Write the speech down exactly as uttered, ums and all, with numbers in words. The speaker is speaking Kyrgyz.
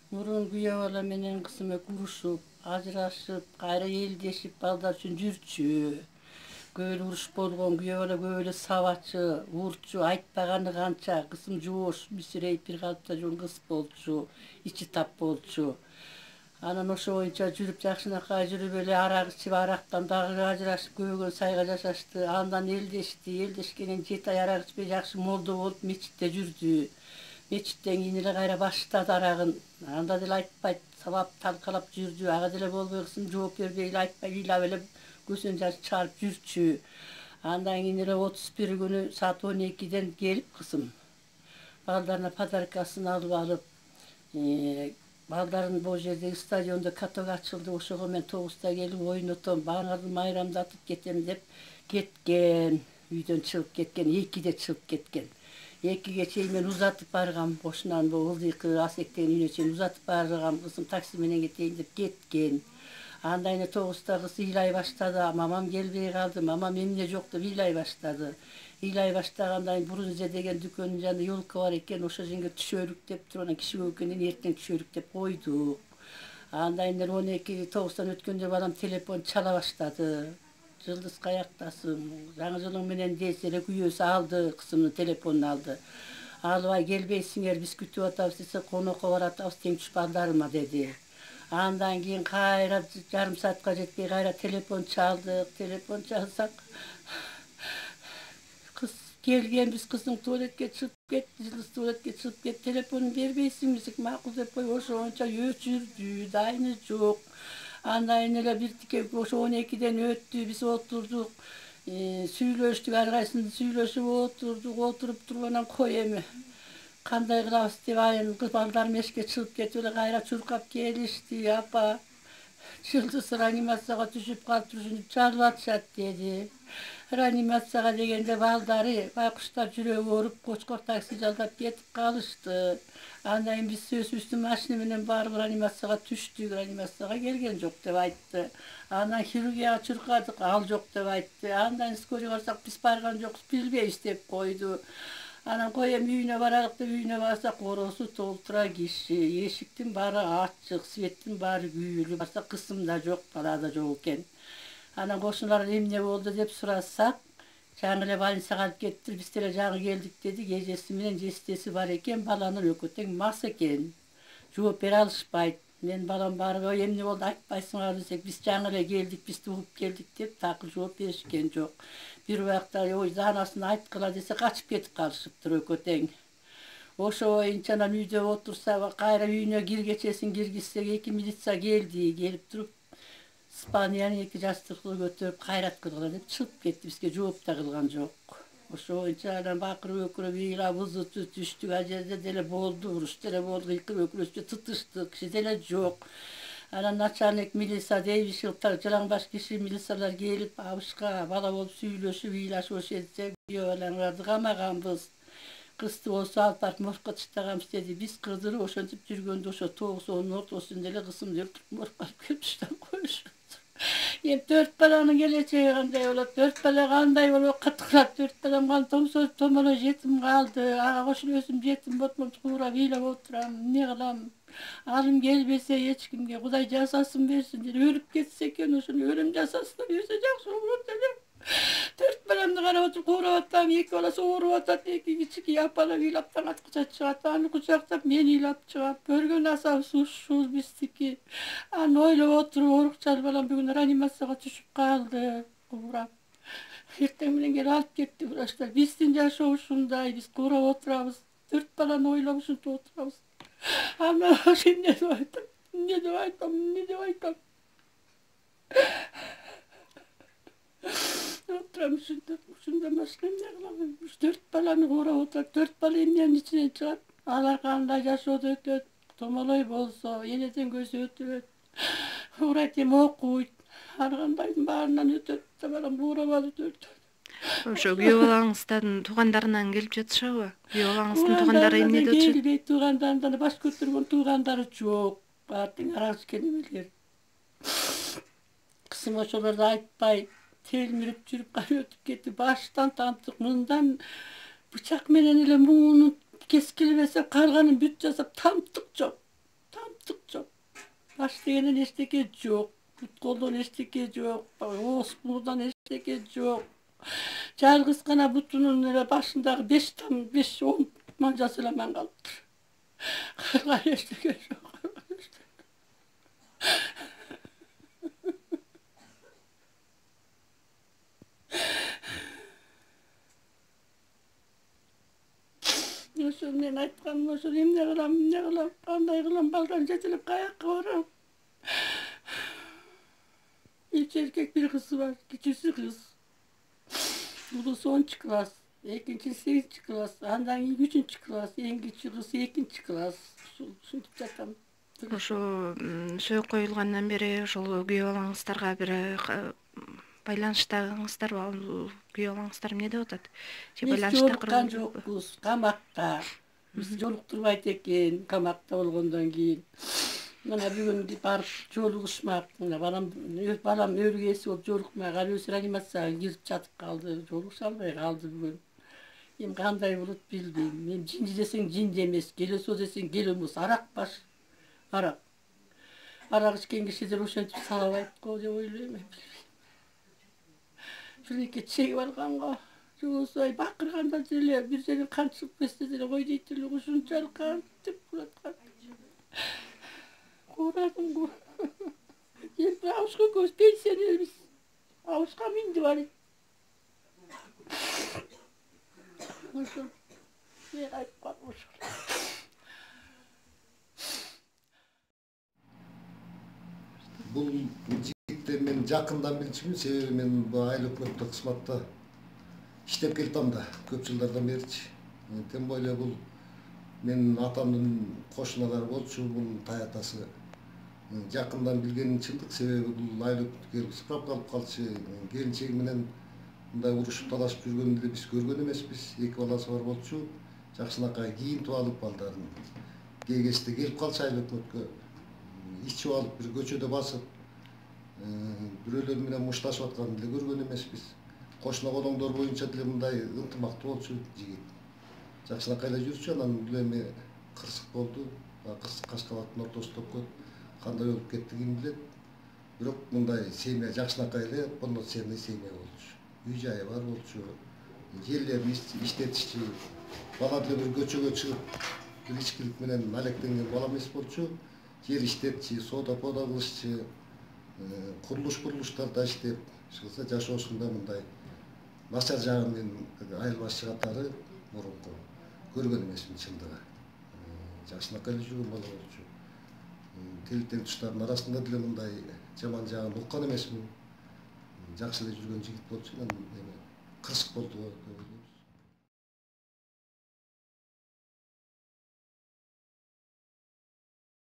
Мурун күйөө бала менен кызым урушуп, ажырашып, кайра элдешип балдар үчүн жүрчү. Көп эле уруш болгон, күйөө бала көп эле сабачы, урчу, айтпаганы канча, кызым жоош, мүсүрейип бир калыпта жүргөн кыз болчу, ичи тап болчу. Анан ошо боюнча жүрүп жакшынакай жүрүп эле арак ичип, арактан дагы ажырашып, көбөгөн сайга жашашты. Андан элдешти, элдешкенден жети ай арак ичпей жакшы молдо болуп мечитте жүрдү. Мечиттен кийин эле кайра баштады арагын. Анда деле айтпайт, сабап талкалап жүрдү. Ага деле болбой кызым жооп бербей эле айтпай ыйлап эле көзүн жаш чыгарып жүрчү. Андан кийин эле отуз бир күнү саат он экиден келип кызым балдарына подаркасын алып алып, балдарын бул жердеги стадиондо каток ачылды, ошого мен тогузда келип ойнотом, баарын майрамдатып кетем деп кеткен. Үйдөн чыгып кеткен, экиде чыгып кеткен. экиге чейин мен узатып баргам, ошонан бул ылдыйкы Асектен үйүнө чейин узатып баргам, кызым такси менен кетейин деп кеткен. Андан кийин тогузда кыз ыйлай баштады, мамам келбей калды, мамам эмне жок деп ыйлай баштады. Ыйлай баштагандан кийин Брунзе деген дүкөндүн жанында ёлка бар экен, ошол жерге түшөлүк деп туруп, анан киши көп экенден эртең түшөлүк деп койдук. Андан кийин он эки тогуздан өткөндө балам телефон чала баштады. Жылдыз каяктасың, жаңы жылың менен десе эле күйөөсү алды, кызымдын телефонун алды. Албай келбейсиңер, биз күтүп атабыз десе, конокко баратабыз теңчү балдарыма деди. Андан кийин кайра жарым саатка жетпей кайра телефон чалдык, телефон чалсак кыз келгенбиз, кыздың туалетке чыгып кетти, жылдыз туалетке чыгып кетти, телефонун бербейсиңби десек, макул деп коюп ошо боюнча өчүрдү, дайыны жок. Андан кийин эле биртике ошо он экиден өттү, биз отурдук, сүйлөштүк, ар кайсысын сүйлөшүп отурдук, отуруп туруп анан кой эми кандай кылабыз деп айын балдарым эшикке чыгып кетип эле кайра чуркап келишти. Апа, Жылдыз реанимацияга түшүп калыптыр, чалып атышат деди. Реанимацияга дегенде балдары байкуштар жүрөгү ооруп, Кочкор такси жалдап кетип калышты. Андан кийин биз өзүбүздүн машина менен барып реанимацияга түштүк, реанимацияга келген жок деп айтты. Анан хирургияга чуркадык, ал жок деп айтты. Андан кийин скорый барсак, биз барган жокпуз, билбейбиз деп койду. Анан кой эми үйүнө баралык деп үйүнө барсак, ороосу толтура киши, эшиктин баары ачык, светтин баары күйүлүп, барсак кызым да жок, бала да жок экен. Анан кошуналар эмне болду деп сурасак, жаңы эле больницага алып кетиптир, биз деле жаңы келдик дедик. Эжеси менен жестеси бар экен, баланын экөө тең мас экен. Жооп бере алышпайт. Мен балам барып, ой эмне болду айтпайсыңарбы десек, биз жаңы эле келдик, биз угуп келдик деп так жооп беришкен жок. Бир убакта ой заанасын айткыла десе, качып кетип калышыптыр экөө тең. Ошо боюнча анан үйдө отурса, кайра үйүнө киргечесин киргизсек, эки милиция келди, келип туруп Испаниянын эки жастыктуу көтөрүп кайрат кылгыла деп чыгып кетти, бизге жооп да кылган жок. Ошо боюнча анан бакырып өкүрүп ыйлап ызы түштүк, ал жерде деле болду, уруш деле болду, ыйкырып өкүрүшүп тытыштык, киши деле жок. Анан начальник милиция дейбишип, жалаңбаш киши милициялар келип, абышка бала болуп сүйлөшүп, ыйлашып ошо жерде күйөө балаңарды камаганбыз. Кызды болсо алып барып моргко таштаганбыз деди. Биз кыдырып ошентип жүргөндө ошо тогуз онунун ортосунда эле кызымды өлтүрүп моргко алып келип таштап коюшат. Эми төрт баланын келечеги кандай болот? Төрт бала кандай болуп каттыклап, төрт балам калды, томсоз томолой жетим калды. Ага кошулуп өзүм жетим болуп, куурап ыйлап отурам. Эмне кылам? Алым келбесе эч кимге, Кудай жазасын берсин деп өлүп кетсе экен, ошону өлүм жазасына берсе жакшы болот эле. Төрт баламды карап отуруп куурап атам, эки баласы ооруп атат, эки кичинекей апалар ыйлап таң аткыча чыгат, аны кучактап мен ыйлап чыгам. Көргөн асабыз ушул биздики. Аны ойлоп отуруп, оорукчал балам бүгүн реанимацияга түшүп калды, куурап. Эртең менен келип алып кетти врачтар. Биздин жашоо ушундай, биз куурап отурабыз, төрт баланы ойлоп ушинтип отурабыз. Аны эмне деп айтам, эмне деп айтам, эмне деп айтам. Отурам ушинтип, ушундан башка эмне кылам? Төрт баланы куурап отурат, төрт бала эмненин ичинен чыгат? Алар кандай жашоодо өтөт? Томолой болсо, энеден көзү өтөт. Урайтем окуйт, ар кандайдын баарынан өтөт. Балам куурап алып төрт. Ошо күйөө балаңыздын туугандарынан келип жатышабы? Күйөө балаңыздын туугандары эмнеде отурат? Келбейт, туугандарынан баш көтөргөн туугандары жок. Баары тең арак ичкен эмелер. Кызым ошолорду айтпай, телмирип жүрүп кайра өтүп кетти. Баштан тантык, мындан бычак менен эле муунун кескилебесе, калганын бүт жасап, тамтык жок. баш дегенен эчтеке жок, бут колдон эчтеке жок, ооз мурдан эчтеке жок. Жалгыз гана бутунун эле башындагы беш там беш он манжасы эле аман калыптыр. Калган эчтеке жок. Ошо мен айтканым ошо эмне кылам, эмне кылам, кандай кылам, балдан жетелеп каякка барам. Үч эркек бир кызы бар, кичүүсү кыз. Улуусу онунчу класс, экинчиси сегизинчи класс, андан кийин үчүнчү класс, эң кичүү кыз экинчи класс. Ушинтип жатам. Ошо сөөк коюлгандан бери ошол күйөө балаңыздарга бир байланыштагыңыздарбы? Ал күйөө балаңыздар эмне деп атат? Же байланышта курган жокпуз, камакта. Биз жолуктурбайт экен, камакта болгондон кийин. Мына бүгүн барып жолугушмак. Мына балам, балам өргөсү болуп жолукмай, ал өзү реанимацияга кирип жатып калды, жолугуша албай калды бүгүн. Эми кандай болот билбейм. Мен жинди десең жинди эмес, келесо десең келе эмес, арак баш. Арак. Арак ичкен кишилер ошентип салабайт го деп ойлойм, билбейм. Биринке чеги барганга, жобосу бакырганда деле бир жерге канчып кетсе деле кой дейт эле, ушунчалык кантип кураткан. Курадым го. Эми абышка көз пенсионербиз. Абышка минди барайт. Ошо. Мен айткан ошо. Бул жигитти мен жакындан билчүмүн, себеби мен бул айыл өкмөттүк кызматта иштеп келатам да, көп жылдардан беричи. Тем более бул менин атамдын кошуналары болчу, бул таятасы. Жакындан билгеним чындык, себеби бул айыл өкмөткө сыпырап калып калчу. Келинчеги менен мындай урушуп талашып жүргөнүн деле биз көргөн эмеспиз. Эки баласы бар болчу. Жакшынакай кийинтип алып балдарын. Кээ кезде келип калчу айыл өкмөткө. Ичип алып бир көчөдө басып, бирөөлөр менен мушташып атканын деле көргөн эмеспиз. Кошуна колоңдор боюнча деле мындай ынтымактуу болчу жигит. Жакшынакай эле жүрчү, анан бул эми кырсык болду. Кырсык Кашкабаттын ортосунда өткөн. Кандай болуп кетти ким билет. Бирок мындай семья Жакшынакай эле полноценный семья болчу. Үй жайы бар болчу. Жерлерин иштетишчи. Бала деле бир көчөгө чыгып, бир ичкилик менен алектенген бала эмес болчу. Жер иштетчи, соода-пода кылышчы, курулуш курулуштарда иштеп, чыкса жашоосунда мындай начар жагын мен айыл башчы катары мурунку көргөн эмесмин чындыгы. Жакшынакай эле жүргөн бала болчу. Тил тең арасында деле мындай жаман жагын уккан эмесмин. Жакшы эле жүргөн жигит болчу, эми кырсык болду деп ойлойм.